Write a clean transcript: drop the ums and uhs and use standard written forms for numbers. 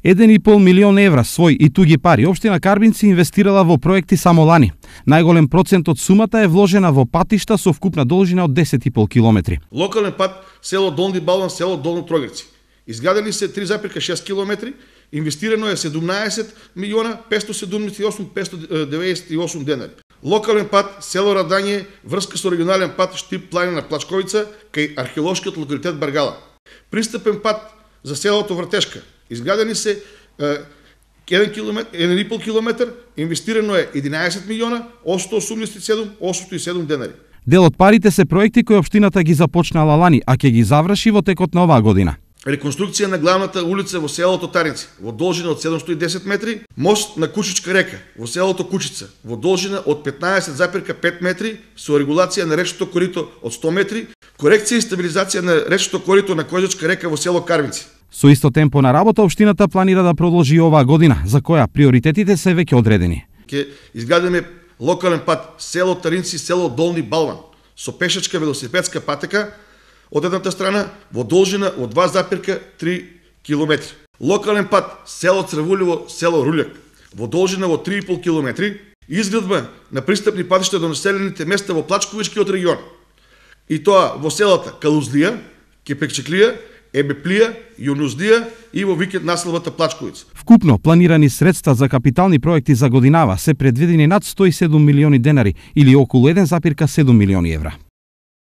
1,5 милион евра свој и туги пари општина Карбинци инвестирала во проекти само лани. Најголем процент од сумата е вложена во патишта со вкупна должина од 10,5 километри. Локален пат село Долни Балван, село Долно Трогрци. Изградени се 3,6 километри, инвестирано е 17 милиона 578 денари. Локален пат село Радање, врска со регионален пат Штип планина Плачковица кај археолошкиот локалитет Баргала. Пристапен пат за селото Вртешка. Изградени се 1,5 километар, инвестирано е 11 милиона 887 денари. Дел од парите се проекти кои општината ги започнала лани, а ќе ги заврши во текот на оваа година. Реконструкција на главната улица во селото Таринци, во должина од 710 метри, мост на Кучичка река, во селото Кучица, во должина од 15,5 метри, со регулација на речното корито од 100 метри, корекција и стабилизација на речното корито на Козачка река во село Карвинци. Со исто темпо на работа, општината планира да продолжи оваа година, за која приоритетите се веќе одредени. Ќе изградиме локален пат село Таринци, село Долни Балван, со пешачка велосипедска патека од едната страна во должина од 2,3 километри. Локален пат село Црвулево, село Руљак, во должина во 3,5 километри, изградба на пристапни патишта до населените места во Плачковичкиот регион. И тоа во селата Калузлија, Кепекчеклија, Ебеплија, Јунуздија и во викенд населбата Плачковица. Вкупно планирани средства за капитални проекти за годинава се предвидени над 107 милиони денари или околу 1,7 милиони евра.